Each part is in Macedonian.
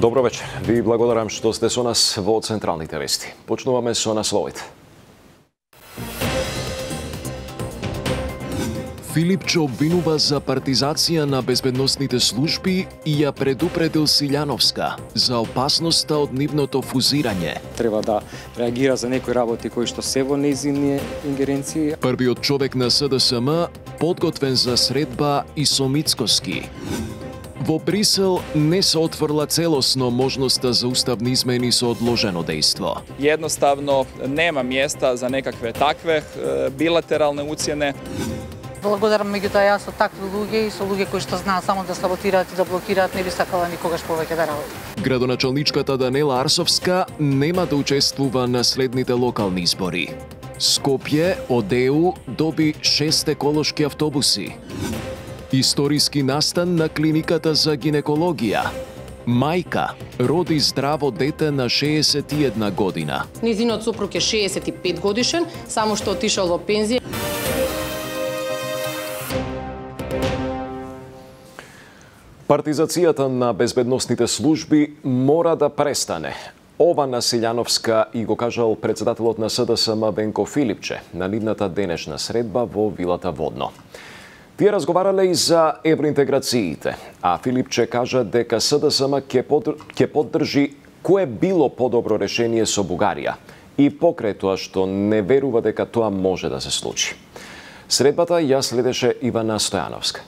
Добро вечер. Ви благодарам што сте со нас во централните вести. Почнуваме со насловите. Филипче обвинува за партизација на безбедносните служби и ја предупредил Силјановска за опасноста од нивното фузирање. Треба да реагира за некои работи кои што се во нејзини ингеренции. Првиот човек на СДСМ подготвен за средба и со Мицкоски. Во Брисел не се отворила целосно можноста за уставни измени со одложено дејство. Jednostavno нема места за некакве такве билатералне уцјене. Благодарам, меѓутоа јас со такви луѓе и со луѓе кои што знаат само да саботираат и да блокираат, не би сакала никогаш повеќе да работам. Градоначалничката Данела Арсовска нема да учествува на следните локални избори. Скопје од ЕУ доби 6 еколошки автобуси. Историски настан на клиниката за гинекологија. Мајка роди здраво дете на 61 година. Низинот сопруг е 65 годишен, само што отишол во пензија. Партизацијата на безбедносните служби мора да престане. Ова на Силјановска и го кажал председателот на СДСМ Венко Филипче на нивната денешна средба во Вилата Водно. Тие разговарале и за евроинтеграциите, а Филипче кажа дека СДСМ ќе поддржи кое било подобро решение со Бугарија и покрај тоа што не верува дека тоа може да се случи. Средбата ја следеше Ивана Стојановска.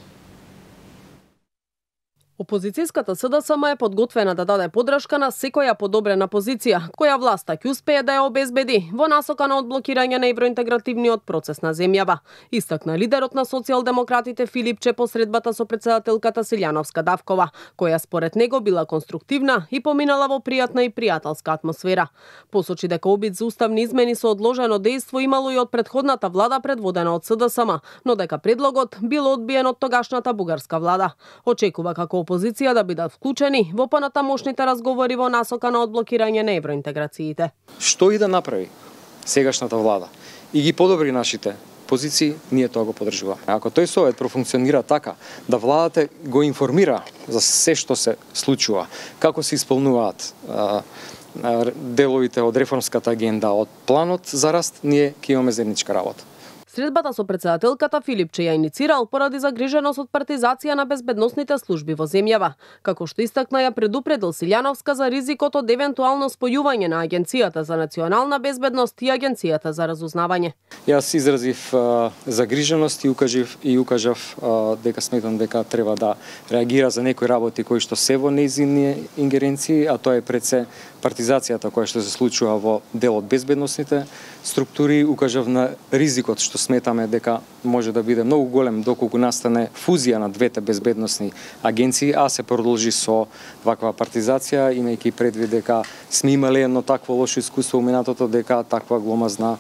Опозицијската СДСМ е подготвена да даде поддршка на секоја подобрена позиција, која власта ќе успее да ја обезбеди во насока на одблокирање на евроинтегративниот процес на земјава. Истакна лидерот на социјалдемократите Филипче по средбата со председателката Силјановска Давкова, која според него била конструктивна и поминала во пријатна и пријателска атмосфера. Посочи дека обид за уставни измени со одложено дејство имало и од претходната влада предводена од СДСМ, но дека предлогот бил одбиен од тогашната бугарска влада. Очекува како опозиција да бидат вклучени во понатамошните разговори во насока на одблокирање на евроинтеграциите. Што и да направи сегашната влада и ги подобри нашите позиции, ние тоа го поддржуваме. Ако тој совет профункционира така, да владата го информира за се што се случува, како се исполнуваат деловите од реформската агенда, од планот за раст, ние ќе имаме заедничка работа. Средбата со председателката Филипче ја иницирал поради загриженост од партизација на безбедносните служби во земјава. Како што истакна, ја предупредил Силјановска за ризикот од евентуално спојување на Агенцијата за национална безбедност и Агенцијата за разузнавање. Јас изразив загриженост и укажав дека сметам дека треба да реагира за некои работи кои што се во нејзини ингеренции, а тоа е пред се партизацијата која што се случува во дел од безбедносните структури. Укажав на ризикот што сметаме дека може да биде многу голем доколку настане фузија на двете безбедносни агенции, а се продолжи со ваква партизација, имајќи предвид дека сме имале едно такво лошо искуство во минатото, дека таква гломазна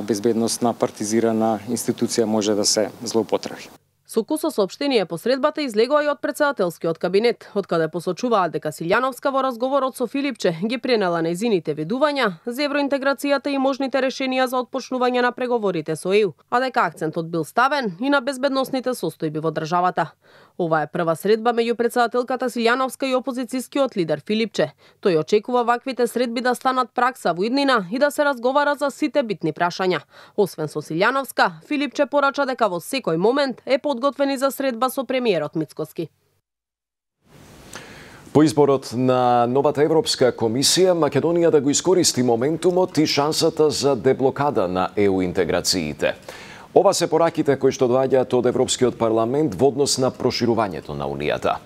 безбедносна партизирана институција може да се злоупотреби. Со кусо соопштение по средбата излегува и од председателскиот кабинет, од каде посочуваат дека Силјановска во разговорот со Филипче ги пренела нејзините ведувања за евроинтеграцијата и можните решенија за отпочнување на преговорите со ЕУ, а дека акцентот бил ставен и на безбедносните состојби во државата. Ова е прва средба меѓу председателката Силјановска и опозицијскиот лидер Филипче. Тој очекува ваквите средби да станат пракса во иднина и да се разговара за сите битни прашања. Освен со Силјановска, Филипче порача дека во секој момент е подготвени за средба со премиерот Мицкоски. По изборот на новата Европска комисија, Македонија да го искористи моментумот и шансата за деблокада на ЕУ интеграциите. Ова се пораките кои што доаѓаат од Европскиот парламент во однос на проширувањето на Унијата.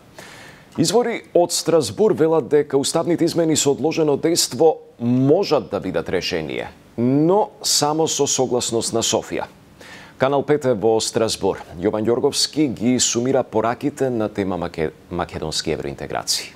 Извори од Страсбур велат дека уставните измени со одложено дејство можат да бидат решение, но само со согласност на Софија. Канал 5 е во Страсбур. Јован Ѓорговски ги сумира пораките на тема македонски евроинтеграции.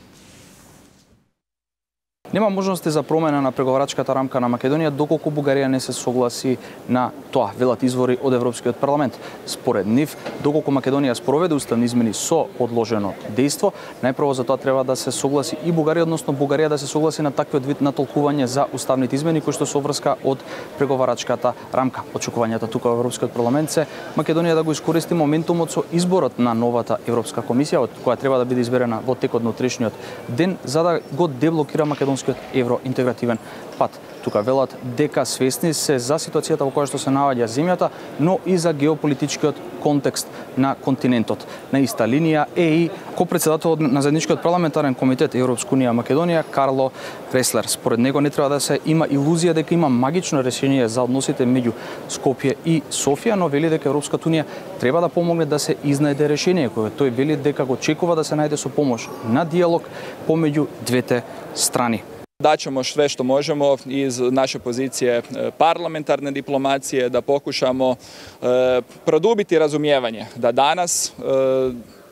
Нема можности за промена на преговарачката рамка на Македонија доколку Бугарија не се согласи на тоа, велат извори од Европскиот парламент. Според нив, доколку Македонија спроведе уставни измени со одложено дејство, најпрво за тоа треба да се согласи и Бугарија, односно Бугарија да се согласи на таквиот вид на толкување за уставните измени кои што се обврска од преговарачката рамка. Очекувањата тука во Европскиот парламент се Македонија да го искористи моментумот со изборот на новата Европска комисија, која треба да биде изберена во текот на утрешниот ден, за да го деблокира македонскиот евроинтегративен пат. Тука велат дека свесни се за ситуацијата во која што се наоѓа земјата, но и за геополитичкиот контекст на континентот. На иста линија е и копредседателот на заедничкиот парламентарен комитет Европска унија Македонија Карло Креслер. Според него не треба да се има илузија дека има магично решение за односите меѓу Скопје и Софија, но вели дека Европската унија треба да помогне да се изнајде решение, кое тој вели дека го очекува да се најде со помош на диалог помеѓу двете страни. Daćemo sve što možemo iz naše pozicije parlamentarne diplomacije da pokušamo produbiti razumijevanje da danas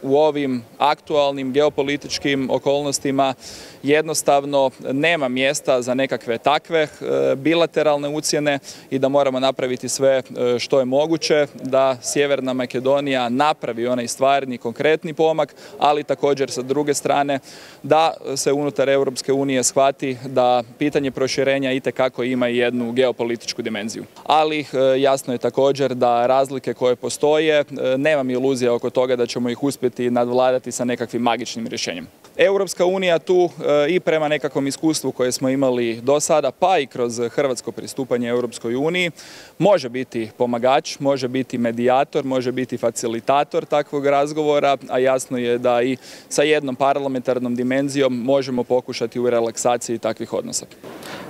u ovim aktualnim geopolitičkim okolnostima jednostavno nema mjesta za nekakve takve bilateralne ucjene i da moramo napraviti sve što je moguće da Sjeverna Makedonija napravi onaj stvarni, konkretni pomak, ali također sa druge strane da se unutar Europske unije shvati da pitanje proširenja itekako ima i jednu geopolitičku dimenziju. Ali jasno je također da razlike koje postoje, nemam iluzija oko toga da ćemo ih uspjeti nadvladati sa nekakvim magičnim rješenjem. Europska unija tu i prema nekakvom iskustvu koje smo imali do sada, pa i kroz hrvatsko pristupanje Europskoj uniji, može biti pomagač, može biti medijator, može biti facilitator takvog razgovora, a jasno je da i sa jednom parlamentarnom dimenzijom možemo pokušati u relaksaciji takvih odnosa.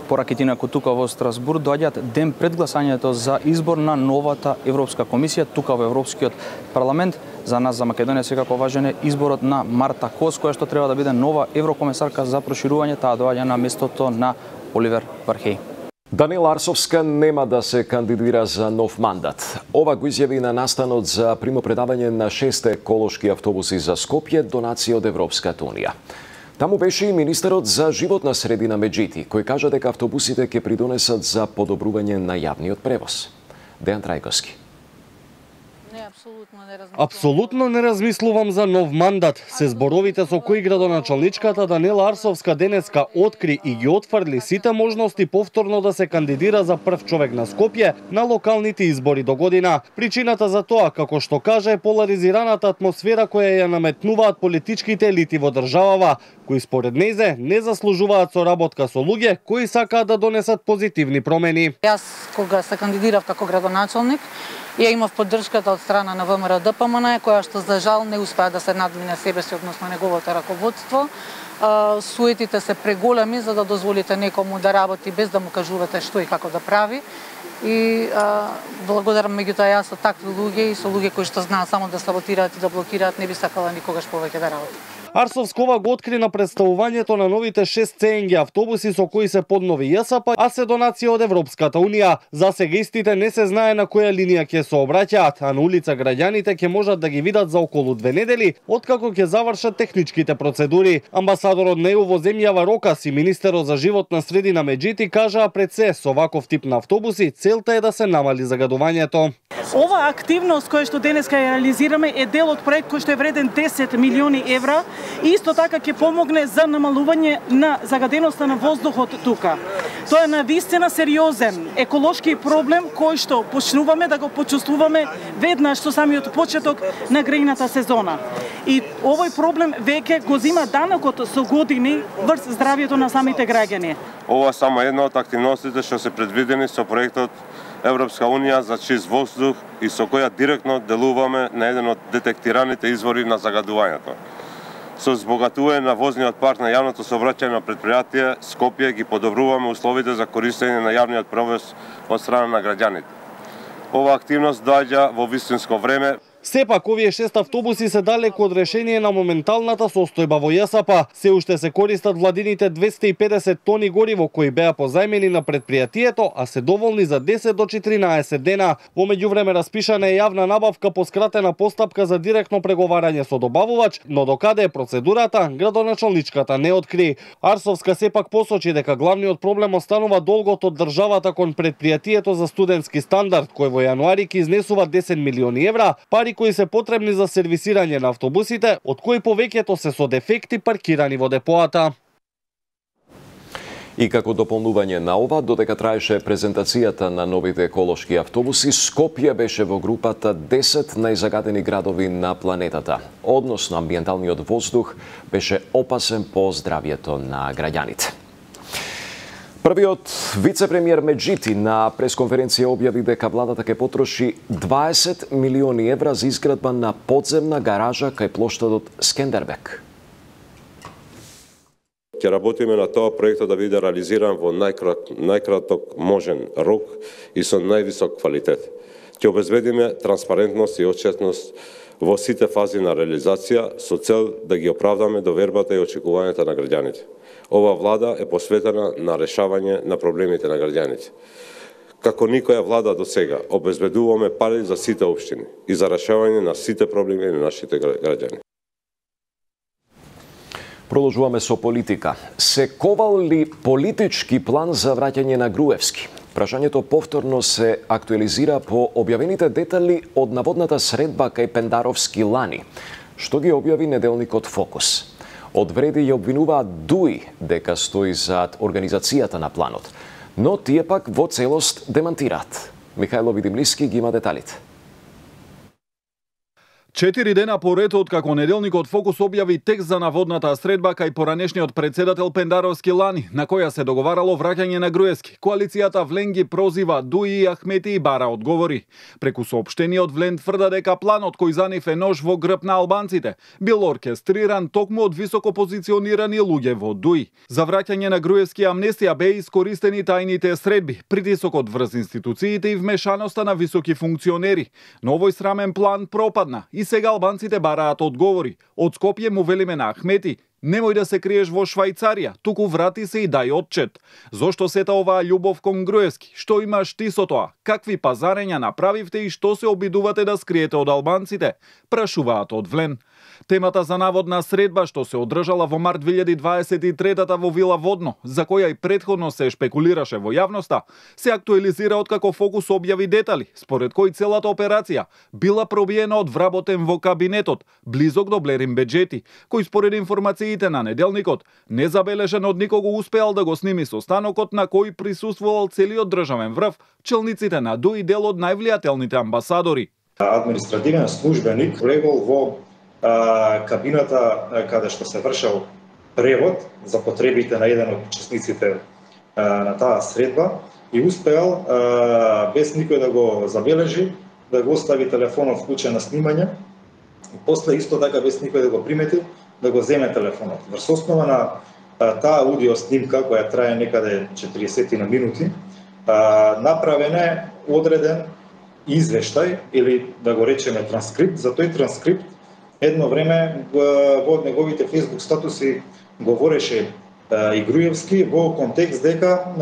Пораките инаку тука во Страсбург доаѓаат ден пред гласањето за избор на новата Европска комисија тука во Европскиот парламент. За нас, за Македонија, секако важен е изборот на Марта Кос, која што треба да биде нова еврокомесарка за проширување, таа доаѓа на местото на Оливер Вархеј. Данила Арсовска нема да се кандидира за нов мандат. Ова го изјави на настанот за примопредавање на 6 еколошки автобуси за Скопје, донација од Европската унија. Таму беше и министерот за животна средина Меджити, кој кажа дека автобусите ќе придонесат за подобрување на јавниот превоз. Дејан Трајковски. Апсолутно не размислувам за нов мандат, се зборовите со кои градоначалничката Данила Арсовска денеска откри и ги отфрли сите можности повторно да се кандидира за прв човек на Скопје на локалните избори до година. Причината за тоа, како што каже, е поларизираната атмосфера која ја наметнуваат политичките елити во државава, кои според незе не заслужуваат соработка со луѓе кои сакаат да донесат позитивни промени. Јас кога се кандидирав како градоначалник, ја имав поддршката од страна на ВМРО ДПМН, која што за жал не успеа да се надмине себе си, односно неговото раководство. Суетите се преголеми за да дозволите некому да работи без да му кажувате што и како да прави. И благодарам меѓутоа јас со такви луѓе и со луѓе кои што знаат само да саботираат и да блокираат, не би сакала никогаш повеќе да работи. Арсовскова го откри на представувањето на новите 6 ЦНГ автобуси со кои се поднови ЈСП, а се донација од Европската унија. За сега истите не се знае на која линија ќе се обраќаат, а на улица граѓаните ќе можат да ги видат за околу 2 недели, откако ќе завршат техничките процедури. Амбасадорот на ЕУ во земјава Рокас и министерот за животна средина Меджити кажаа пред се со ваков тип на автобуси целта е да се намали загадувањето. Ова активност која што денеска ја реализираме е дел од проект кој што е вреден 10 милиони евра и исто така ќе помогне за намалување на загаденоста на воздухот тука. Тоа е навистина сериозен еколошки проблем кој што почнуваме да го почувствуваме веднаш со самиот почеток на грејната сезона. И овој проблем веќе го зима данокот со години врз здравјето на самите граѓани. Ова е само една од активностите што се предвидени со проектот Европска унија за чист воздух и со која директно делуваме на еден од детектираните извори на загадувањето. Со збогатување на возниот парк на јавното сообраќајно на предпријатие Скопје ги подобруваме условите за користење на јавниот превоз од страна на граѓаните. Ова активност доаѓа во вистинско време. Сепак, овие 6 автобуси се далеку од решение на моменталната состојба во ЈСП. Се уште се користат владините 250 тони гориво кои беа позајмени на предпријатието, а се доволни за 10 до 14 дена. Во меѓувреме распишана е јавна набавка по скратена постапка за директно преговарање со добавувач, но докаде е процедурата, градоначалничката не откри. Арсовска сепак посочи дека главниот проблем останува долгот од државата кон предпријатието за студентски стандард, кој во јануари ќе изнесува 10 милиони евра, пари кои се потребни за сервисирање на автобусите, од кои повеќето се со дефекти паркирани во депоата. И како дополнување на ова, додека траеше презентацијата на новите еколошки автобуси, Скопје беше во групата 10 најзагадени градови на планетата. Односно, амбиенталниот воздух беше опасен по здравјето на граѓаните. Првиот вице-премиер Меджити на пресконференција објави дека владата ќе потроши 20 милиони евра за изградба на подземна гаража кај плоштадот Скендербек. Ќе работиме на тоа проектот да биде реализиран во најкраток можен рок и со највисок квалитет. Ќе обезбедиме транспарентност и отчетност во сите фази на реализација со цел да ги оправдаме довербата и очекувањата на граѓаните. Ова влада е посветена на решавање на проблемите на граѓаните. Како никоја влада до сега, обезбедуваме пари за сите општини и за решавање на сите проблеми на нашите граѓани. Продолжуваме со политика. Се ковал ли политички план за враќање на Груевски? Прашањето повторно се актуализира по објавените детали од наводната средба кај Пендаровски лани, што ги објави неделникот Фокус. Одвреди ја обвинуваат ДУИ дека стои зад организацијата на планот, но тие пак во целост демантираат. Михајло Видимлиски ги има деталите. 4 дена поред од како неделникот Фокус објави текст за наводната средба кај поранешниот председател Пендаровски лани, на која се договарало враќање на Груевски. Коалицијата Влен ги прозива ДУИ и Ахмети и бара одговори. Преку соопштение од Влен тврда дека планот кој за нив е нож во грб на албанците бил оркестриран токму од високо позиционирани луѓе во ДУИ. За враќање на Груевски амнестија беа искористени тајните средби, притисокот врз институциите и вмешаноста на високи функционери. Но овој срамен план пропадна. И сега албанците бараат одговори. Од Скопје му велиме на Ахмети: немој да се криеш во Швајцарија, туку врати се и дај отчет. Зошто сета оваа љубов кон Груевски? Што имаш ти со тоа? Какви пазарења направивте и што се обидувате да скриете од албанците? Прашуваат од Влен. Темата за наводна средба што се одржала во март 2023 во Вила Водно, за која и претходно се шпекулираше во јавноста, се актуализира откако Фокус објави детали, според кои целата операција била пробиена од вработен во кабинетот, близок до Блерин Беџети, кој според информациите на неделникот, незабележен од никого успеал да го сними состанокот на кој присуствувал целиот државен врв, челниците на ДУИ дел од највлијателните амбасадори. Административен службеник влегол во кабината каде што се вршел превод за потребите на еден од учесниците на таа средба и успеал без никој да го забележи да го остави телефонот вклучен на снимање и после исто така без никој да го примети да го земе телефонот. Врз основа на таа аудио снимка која трае некаде 40 на минути направен е одреден извештај или да го речеме транскрипт. За тој транскрипт едно време во неговите Facebook статуси говореше и Груевски во контекст дека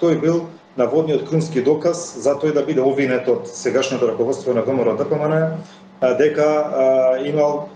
тој бил наводниот крунски доказ за тој да биде обвинет од сегашното раководство на ВМРО ДПМН дека имал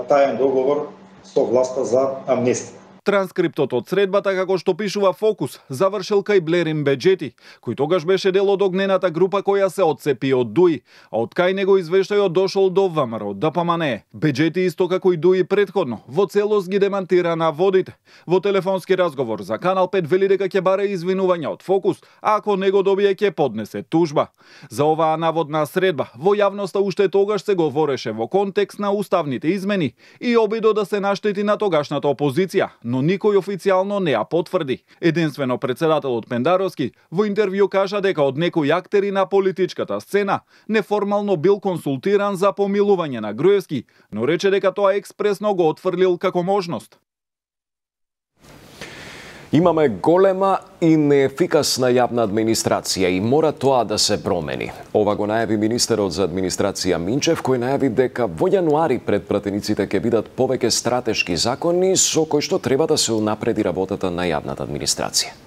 таен договор со власта за амнестија. Транскриптот од средбата, како што пишува Фокус, завршил кај Блерин Беџети, кој тогаш беше дел од огнената група која се отцепи од ДУИ, а од кај него извештајот дошол до ВМРО ДПМН. Беџети исто како и ДУИ претходно, во целост ги демантира наводите. Во телефонски разговор за Канал 5 вели дека ќе баре извинувања од Фокус, а ако не го добие ќе поднесе тужба. За оваа наводна средба во јавноста уште тогаш се говореше во контекст на уставните измени и обидо да се наштети на тогашната опозиција, но никој официјално не ја потврди. Единствено председателот Пендаровски во интервју кажа дека од некои актери на политичката сцена неформално бил консултиран за помилување на Груевски, но рече дека тоа експресно го отфрлил како можност. Имаме голема и неефикасна јавна администрација и мора тоа да се промени. Ова го најави министерот за администрација Минчев, кој најави дека во јануари пред пратениците ќе бидат повеќе стратешки закони со кои што треба да се унапреди работата на јавната администрација.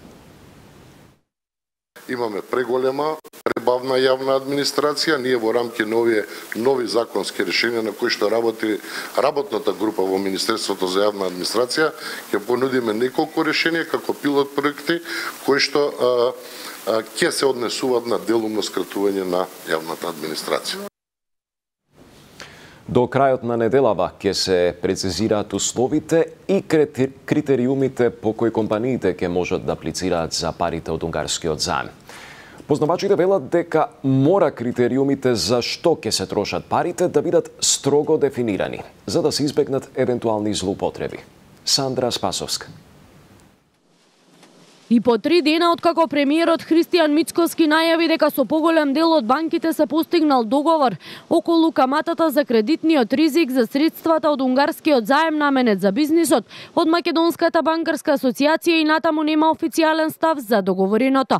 Имаме преголема, пребавна јавна администрација. Ние во рамки на овие нови законски решенија на кои што работи работната група во Министерството за јавна администрација, ќе понудиме неколку решенија како пилот проекти кои што ќе се однесуваат на делумно скратување на јавната администрација. До крајот на неделава ќе се прецизираат условите и критериумите по кои компаниите ќе можат да аплицираат за парите од унгарскиот заем. Познавачите велат дека мора критериумите за што ќе се трошат парите да бидат строго дефинирани, за да се избегнат евентуални злоупотреби. Сандра Спасовска. И по 3 дена откако премиерот Христијан Мицкоски најави дека со поголем дел од банките се постигнал договор околу каматата за кредитниот ризик за средствата од унгарскиот заем наменет за бизнисот, од Македонската банкарска асоциација и натаму нема официјален став за договореното.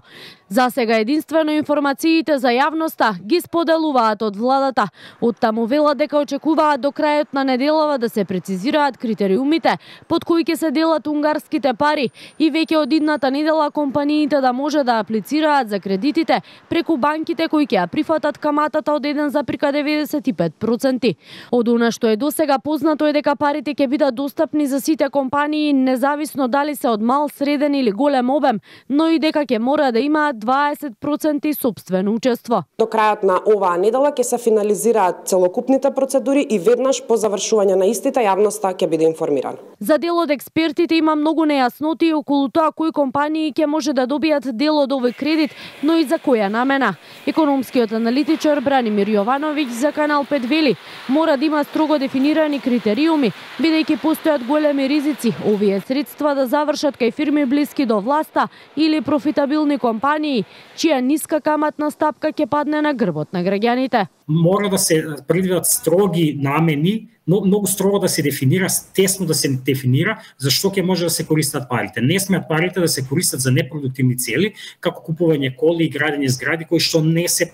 За сега единствено информациите за јавноста ги споделуваат од владата. Оттаму велат дека очекуваат до крајот на неделава да се прецизираат критериумите под кои ќе се делат унгарските пари и веќе од идната недела компаниите да може да аплицираат за кредитите преку банките кои ќе ја прифатат каматата од 1,95%. Од она што е досега познато е дека парите ќе бидат достапни за сите компании независно дали се од мал, среден или голем обем, но и дека ќе мора да имаат 20% сопствено учество. До крајот на оваа недела ќе се финализираат целокупните процедури и веднаш по завршување на истите јавноста ќе биде информирана. За дел од експертите има многу нејасноти околу тоа кои компании ќе може да добијат дел од овој кредит, но и за која намена. Економскиот аналитичар Бранимир Јовановиќ за Канал 5 вели, мора да има строго дефинирани критериуми, бидејќи постојат големи ризици овие средства да завршат кај фирми блиски до власта или профитабилни компании чија ниска каматна стапка ќе падне на грбот на граѓаните. Мора да се предвидат строги намени, но многу строго да се дефинира, тесно да се дефинира за што ќе може да се користат парите. Не смеат парите да се користат за непродуктивни цели, како купување коли и градење згради кои што не се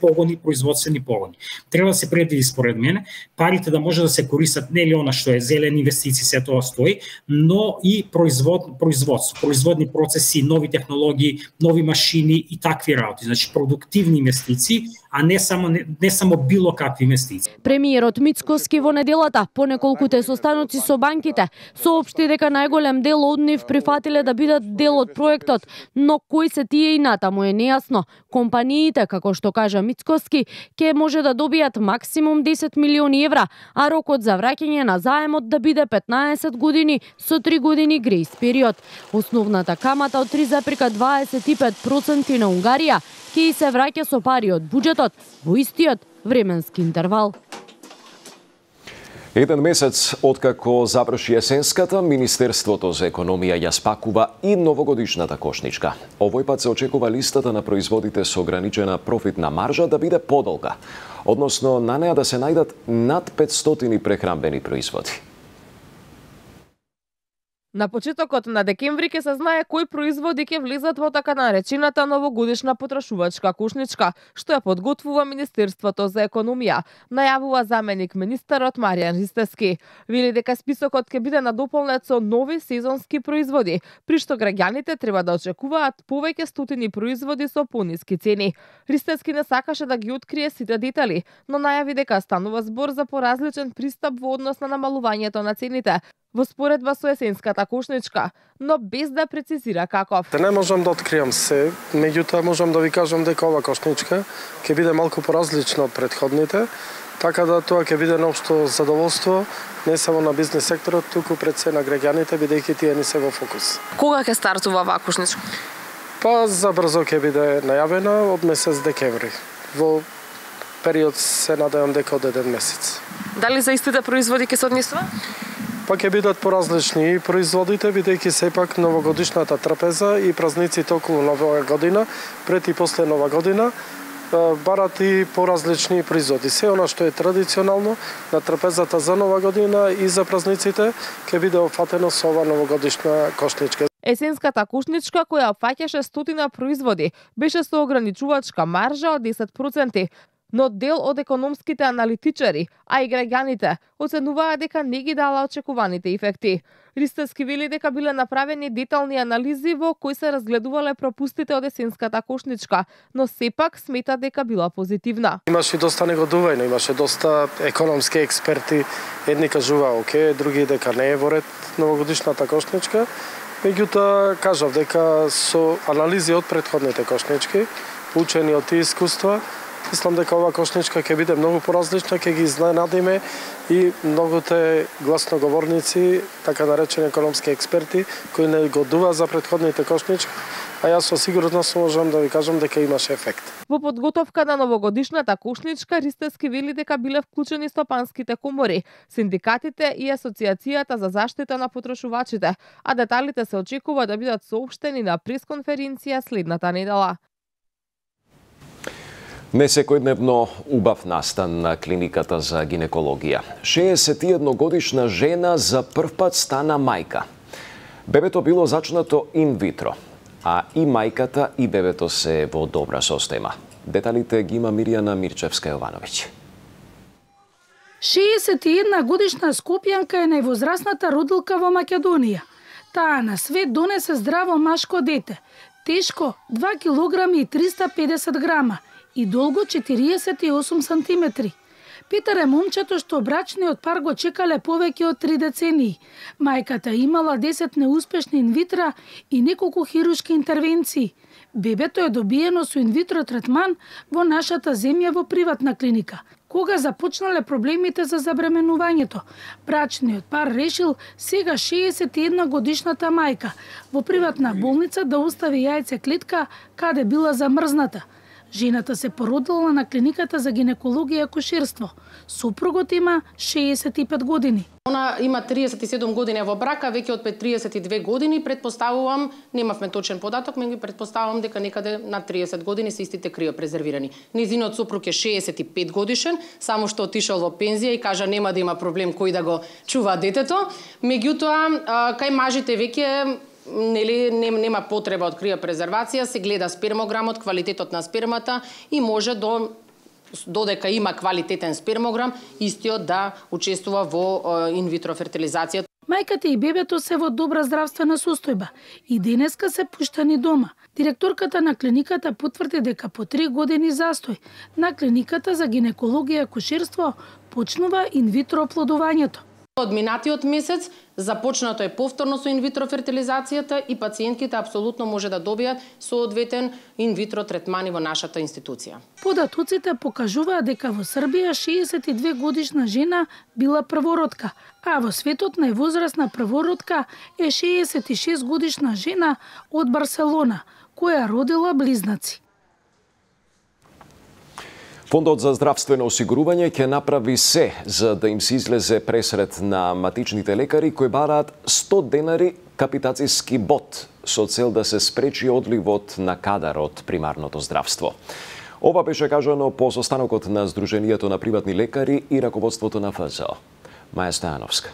погони, производствени погони. Треба да се предвиди според мене парите да може да се користат нели она што е зелени инвестиции, се тоа стои, но и производство, производни процеси, нови технологии, нови машини и такви работи. Значи продуктивни инвестиции, а не само било какви инвестиции. Премиерот Мицкоски во неделата по неколкуте состаноци со банките соопшти дека најголем дел од нив прифатиле да бидат дел од проектот, но кои се тие и натаму е нејасно. Компаниите, како што кажа Мицкоски, ќе може да добијат максимум 10 милиони евра, а рокот за враќање на заемот да биде 15 години со 3 години грејс период. Основната камата од 3,25% на Унгарија ќе се враќа со пари од буџетот во истиот временски интервал. Еден месец откако заврши есенската, Министерството за економија ја спакува и новогодишната кошничка. Овој пат се очекува листата на производите со ограничена профитна маржа да биде подолга, односно на неа да се најдат над 500 прехранбени производи. На почетокот на декември ќе се знае кои производи ќе влезат во така наречената новогодишна потрошувачка кошничка, што ја подготвува Министерството за економија, најавува заменик министерот Маријан Ристевски. Вели дека списокот ќе биде надополнет со нови сезонски производи, при што граѓаните треба да очекуваат повеќе стотини производи со пониски цени. Ристевски не сакаше да ги открие сите детали, но најави дека станува збор за поразличен пристап во однос на намалувањето на цените во споредба со есенската кошничка, но без да прецизира каков. Не можам да откријам се, меѓутоа можам да ви кажам дека ова кошничка ќе биде малку поразлична од претходните, така да тоа ќе биде наопшто задоволство не само на бизнес секторот, туку пред се на граѓаните, бидејќи тие не се во фокус. Кога ќе стартува оваа кошничка? Па забрзо ќе биде најавена од месец декември. Во период се надевам дека од еден месец. Дали за истите производи ќе се однесува? Па ќе бидат поразлични и производите, бидејќи сепак новогодишната трпеза и празниците околу Нова година, пред и после Нова година, барат и поразлични производи. Се она што е традиционално на трпезата за Нова година и за празниците ќе биде опфатено со ова новогодишна кошничка. Есенската кушничка, која опфаќаше 100 производи, беше со ограничувачка маржа од 10%, но дел од економските аналитичари, а и граѓаните, оценуваа дека не ги дала очекуваните ефекти. Ристевски вели дека биле направени детални анализи во кои се разгледувале пропустите од есенската кошничка, но сепак смета дека била позитивна. Имаше доста негодување, имаше доста економски експерти, едни кажуваа оке, други дека не е во ред новогодишната кошничка. Меѓутоа кажав дека со анализи од претходните кошнички, учени од тие искуства, мислам дека ова кошничка ќе биде многу поразлична, ќе ги изненадиме и многуте гласноговорници, така наречени економски експерти, кои негодуваа за претходните кошнички, а јас со сигурност можам да ви кажам дека имаше ефект. Во подготовка на новогодишната кошничка, Ристевски вели дека биле вклучени стопанските комори, синдикатите и Асоциацијата за заштита на потрошувачите, а деталите се очекува да бидат соопштени на пресконференција следната недела. Не секојдневно убав настан на клиниката за гинекологија. 61-годишна жена за првпат стана мајка. Бебето било зачнато инвитро, а и мајката и бебето се во добра состојба. Деталите ги има Мирјана Мирчевска-Јовановиќ. 61-годишна скопјанка е највозрасната родилка во Македонија. Таа на свет донесе здраво машко дете, тешко 2 килограми и 350 грама, и долго 48 сантиметри. Петар е момчето што брачниот пар го чекале повеќе од 3 децении. Мајката имала 10 неуспешни инвитра и неколку хируршки интервенции. Бебето е добиено со инвитро третман во нашата земја во приватна клиника. Кога започнале проблемите за забременувањето, брачниот пар решил сега 61 годишната мајка во приватна болница да остави јајце клетка каде била замрзната. Жената се породила на клиниката за гинекологија и акушерство. Супругот има 65 години. Она има 37 години во брака, веќе од 32 години, предпоставувам, немавме точен податок, меѓу предпоставувам дека некаде на 30 години се истите криопрезервирани. Низиниот супруг е 65 годишен, само што отишол во пензија и кажа нема да има проблем кој да го чува детето. Меѓутоа, кај мажите веќе нема потреба од криопрезервација, се гледа спермограмот, квалитетот на спермата и може додека има квалитетен спермограм, истиот да учествува во инвитро фертилизација. Мајката и бебето се во добра здравствена состојба и денеска се пуштани дома. Директорката на клиниката потврди дека по 3 години застој на клиниката за гинекологија и акушерство почнува инвитро оплодувањето. Од минатиот месец започнато е повторно со инвитро фертилизацијата и пациентките апсолутно може да добијат соодветен инвитро третмани во нашата институција. Податоците покажуваат дека во Србија 62 годишна жена била првородка, а во светот највозрасна првородка е 66 годишна жена од Барселона, која родила близнаци. Фондот за здравствено осигурување ќе направи се за да им се излезе пресред на матичните лекари кои бараат 100 денари капитацијски бод со цел да се спречи одливот на кадар од примарното здравство. Ова беше кажано по состанокот на Сдруженијето на приватни лекари и раководството на ФЗО. Маја Стојановска.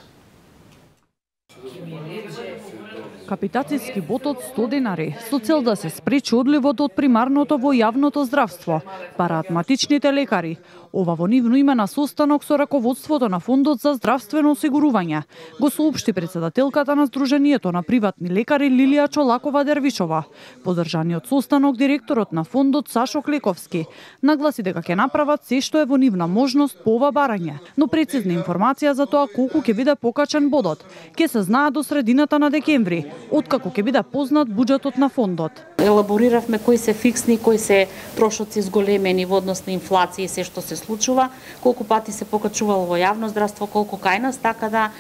Капитацијски бод од 100 денари со цел да се спречи одливот од примарното во јавното здравство, бараат матичните лекари. Ова во нивно име на состанок со раководството на Фондот за здравствено осигурување го соопшти председателката на Сдруженијето на приватни лекари Лилија Чолакова-Дервишова. Подржаниот состанок директорот на фондот Сашо Клековски нагласи дека ќе направат се што е во нивна можност по ова барање, но прецизна информација за тоа колку ќе биде покачен бодот ќе се знае до средината на декември, откако ќе биде познат буџетот на фондот. Елабориравме кои се фиксни, кои се трошоци зголемени во однос на инфлација и се што се случува, колку пати се покачувало во јавно здравство, колку кај нас, така да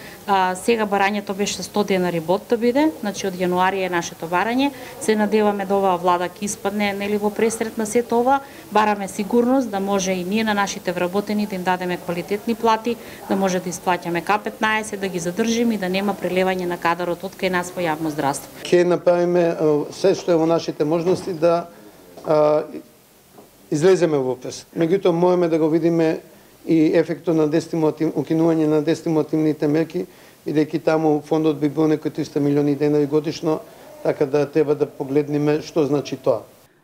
сега барањето беше 100 денари бод да биде, значи од јануари е нашето барање. Се надеваме да оваа влада ќе испадне нели во пресрет на сето ова, бараме сигурност да може и ние на нашите вработени да им дадеме квалитетни плати, да може да исплаќаме К15, да ги задржиме и да нема прелевање на кадарот од кај нас во јавно здравство. Ќе направиме се што е во нашите можности да излеземе во пресрет. Меѓутоа можеме да го видиме и ефектот на укинување на дестимулативните мерки, бидејќи таму фондот би бил некои 300 милиони денари годишно, така да треба да погледнеме што значи тоа.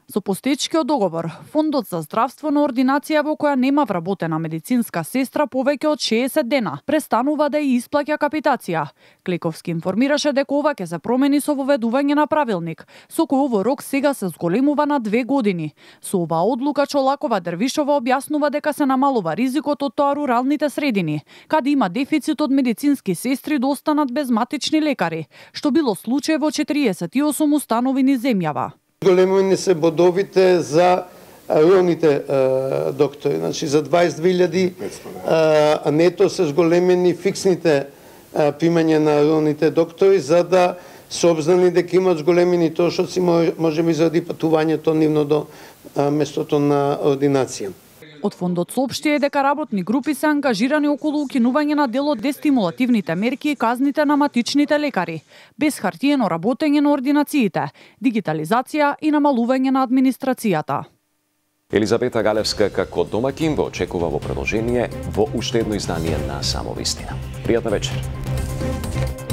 Со постоечкиот договор, Фондот за здравствена ординација во која нема вработена медицинска сестра повеќе од 60 дена престанува да ја исплаќа капитација. Клековски информираше дека ова ќе се промени со воведување на правилник, со кој овој рок сега се зголемува на 2 години. Со оваа одлука Чолакова Дервишова објаснува дека се намалува ризикот од тоа руралните средини, каде има дефицит од медицински сестри да останат без матични лекари, што било случај во 48 установи низ земјава. Големени се бодовите за руралните доктори, значи за 22.000, а нето се зголемени фиксните примања на руралните доктори, за да се обзнани дека имаат зголемени трошоци, можеби заради патувањето нивно до местото на ординација. Од фондот соопштија дека работни групи се ангажирани околу укинување на дел од дестимулативните мерки и казните на матичните лекари, без хартиено работење на ординациите, дигитализација и намалување на администрацијата. Елизабета Галевска како домакин го очекува во продолжение во уште едно издание на Само вистина. Пријатна вечер.